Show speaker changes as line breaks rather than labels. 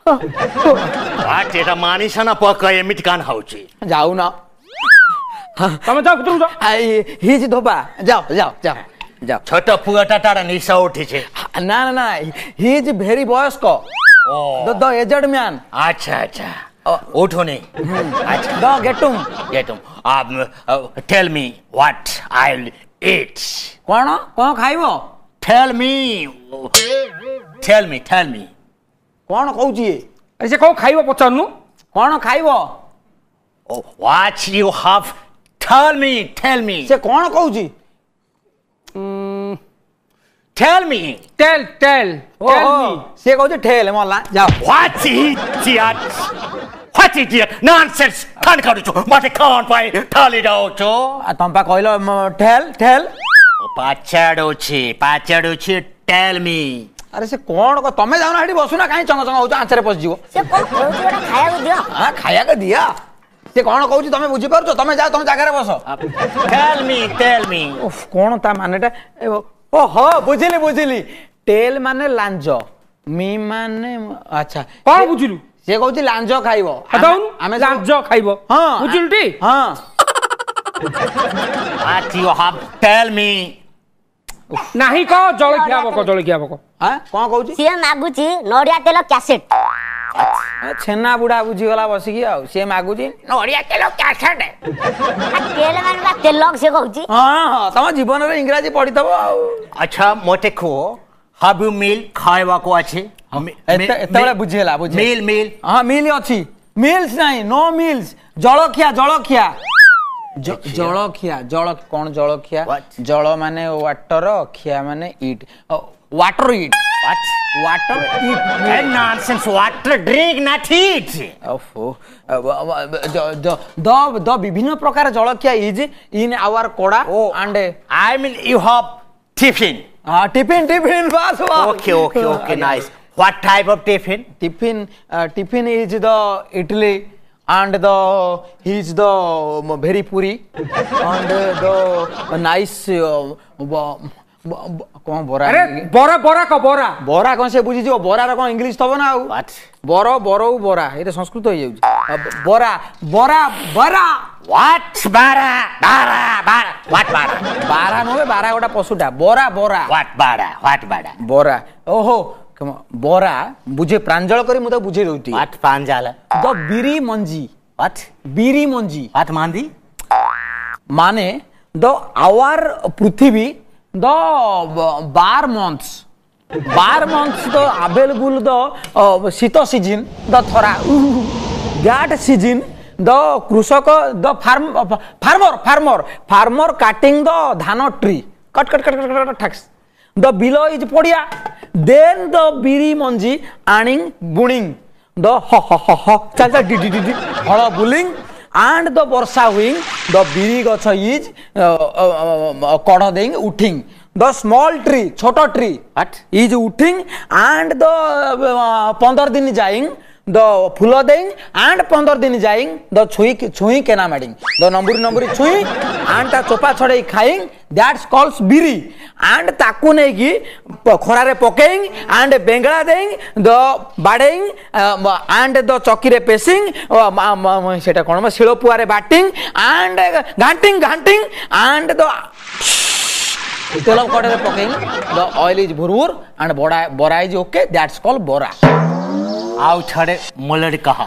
What? ଏଟା ମାନିସ ନା ପକ ଏମିତି କାନ ହଉଛି?
ଯାଉନ।
ତମେ ଯାଅ, ଭିତରକୁ ଯାଅ।
His ଧୋବା, ଯାଅ ଯାଅ ଯାଅ ଯାଅ।
ଛୋଟ ପୁଅଟା, ତାର ନିଶ ଉଠିছে।
ନା ନା ନା, his very ବୟସ୍କ, ଦ ଏଜେଡ ମ୍ୟାନ।
ଆଚ୍ଛା ଆଚ୍ଛା, ଉଠୁନି। ଆଚ୍ଛା।
ଦ ଗେଟୁମ୍।
ଗେଟୁମ୍। Tell me what I will eat.
କଣ କଣ ଖାଇବ?
Tell me, tell me, tell me.
କଣ କହୁଛି ଇଏ?
ଆରେ, ସେ କଣ ଖାଇବ ପଚାରୁନୁ।
କଣ ଖାଇବ?
What you have, tell me, tell me.
ସେ କଣ କହୁଛି?
Tell me.
Tell, tell.
ଓହୋ, ସିଏ କହୁଛି ଠେଲ। ମଲା, ଯାଅ।
What idiot, what idiot, nonsense କଣ କରୁଛୁ? ମତେ କଣ ପାଇଁ ଠେଲି ଦଉଛୁ?
ତମ ପା କହିଲ ଠେଲ ଠେଲ।
ପଚାରୁଛି, ପଚାରୁଛି, ଟେଲ୍ ମି।
ଆରେ, ସେ କଣ? ତମେ ଯାଉନ, ସେଠି ବସୁନା, କାହିଁ ଚଙ୍ଗ ଚଙ୍ଗ ହଉଛ? ଆଞ୍ଚରେ ପଶିଯିବ।
ସେ କଣ କହୁଛି? ଗୋଟେ ଖାଇବାକୁ ଦିଅ।
ହଁ, ଖାଇବାକୁ ଦିଅ। ସେ କଣ କହୁଛି ତମେ ବୁଝିପାରୁଛ? ତମେ ଯାଅ, ତମ ଜାଗାରେ ବସ।
Tell me, tell me.
ଓଃ, କଣ ତା ମାନେଟା? ଓହୋ, ବୁଝିଲି ବୁଝିଲି। ଟେଲ୍ ମାନେ ଲାଞ୍ଜ, ମି ମାନେ, ଆଚ୍ଛା।
କଣ ବୁଝିଲୁ?
ସେ କହୁଛି ଲାଞ୍ଜ ଖାଇବ।
ଆମେ ଲାଞ୍ଜ ଖାଇବ।
ହଁ।
ବୁଝିଲୁ ଟି?
ହଁ।
What you have, tell me.
ନାହିଁ କହ, ଜଳଖିଆ ହବ, ଜଳଖିଆ ହବ।
କଣ କହୁଛି?
ସିଏ ମାଗୁଛି ନଡିଆ ତେଲ କ୍ୟାସେଟ।
ଛେନା ବୁଢା ବୁଝିଗଲା ବସିକି। ଆଉ ସିଏ ମାଗୁଛି ନଡିଆ ତେଲ କ୍ୟାସେଟ।
ତେଲ ମାନେ ବା ତେଲ ସେ କହୁଛି।
ହଁ ହଁ, ତମ ଜୀବନରେ ଇଂରାଜୀ ପଢିଥବ ଆଉ।
ଆଚ୍ଛା, ମତେ କୁହ, have you meal ଖାଇବାକୁ ଅଛି?
ଏତେବେଳେ ବୁଝିହେଲା, ବୁଝି।
Meal, meal.
ହଁ, ମିଲ୍ ଅଛି। ମିଲ୍ସ ନାହିଁ, ନୋ ମିଲ୍ସ। ଜଳଖିଆ, ଜଳଖିଆ, ଜଳଖିଆ, ଜଳ କଣ? ଜଳଖିଆ। ଜଳ ମାନେ ୱାଟର, ଖିଆ ମାନେ ଇଟ୍। Water eat. Water eat.
Nonsense, water drink, not eat.
ଓହୋ, ଦ ଦ ବିଭିନ୍ନ ପ୍ରକାର ଜଳଖିଆ is in hour କଡା and.
I mean, you have tiffin.
ହଁ, tiffin, tiffin, bus.
Okay okay okay, nice. What type of tiffin?
Tiffin, tiffin is the idli and the he is the very puri and the nice କଣ ବରା।
ଆରେ, ବରା, ବରା କ, ବରା।
ବରା କଣ ସେ ବୁଝିଯିବ? ବରାର କଣ ଇଂଲିଶ ଥବ ନା ଆଉ? ବର ବରଉ ବରା, ଏଇଟା ସଂସ୍କୃତ ହେଇଯାଉଛି। ବରା ବରା ବରା।
What bara bara bara, what bara?
ବାରା ନୁହେଁ, ବାରା ଗୋଟା ପଶୁଟା। ବରା ବରା।
What bara, what bara?
ବରା, ଓହୋ, ବରା ବୁଝେ। ପ୍ରାଞ୍ଜଳ କରି ମୁଁ ତାକୁ ବୁଝେଇ ଦଉଛି।
What ପ୍ରାଞ୍ଜଳ?
ଦ ବିରି ମଞ୍ଜି।
What?
ବିରି ମଞ୍ଜି।
What ମଞ୍ଜି?
ମାନେ ଦ ଆୱାର ପୃଥିବୀ ଦ 12 months, 12 months the available ଦ ଶୀତ ସିଜିନ୍ ଦ ଥରା, that season ଦ କୃଷକ ଦ farm farmer farmer farmer cutting the ଧାନ tree, cut cut cut cut cut ଠାକ୍ସ, the bill is ପଡ଼ିଆ, ଦେନ୍ ଦ ବିରି ମଞ୍ଜି ଆଣିଂ ବୁଣିଂ ଦ ହ ହ ହ ହ ଚାଲ ଚାଲ ଡି ଡି ଡି ଡି ହଳ ବୁଲିଂ ଆଣ୍ଡ the ବର୍ଷା ହୁଇଂ ଦ ବିରି ଗଛ is କଢ଼ ଦେଇ ଉଠିଂ, ଦ ସ୍ମଲ୍ ଟ୍ରି, ଛୋଟ ଟ୍ରି is ଉଠିଂ ଆଣ୍ଡ the 15 ଦିନ ଯାଇଂ ଦ ଫୁଲ ଦେଇ ଆଣ୍ଡ 15 ଦିନ ଯାଇଂ ଦ ଛୁଇଁ ଛୁଇଁ କେନା ମାଡ଼ିଂ ଦ ନମ୍ବୁରି ନମ୍ବୁରି ଛୁଇଁ ଆଣ୍ଡ ତା ଚୋପା ଛଡ଼େଇ ଖାଇଂ, that's calls ବିରି। ଆଣ୍ଡ ତାକୁ ନେଇକି ଖରାରେ ପକେଇଂ ଆଣ୍ଡ ବେଙ୍ଗଳା ଦେଇ ଦ ବାଡ଼େଇଂ ଆଣ୍ଡ ଦ ଚକିରେ ପେସିଂ, ସେଇଟା କ'ଣ, ଶିଳପୁଆରେ ବାଟିଂ ଆଣ୍ଡ ଘାଣ୍ଟିଂ ଘାଣ୍ଟିଂ ଆଣ୍ଡ ଦ ତେଲ କଡ଼େରେ ପକେଇଂ, ଦ ଅଏଲ୍ is ଭୁରଭୁର ଆଣ୍ଡ ବଡ଼ା ବରା is okay, that's call ବରା।
ଆଉ ଥରେ ମୁଲଡ଼ କହ।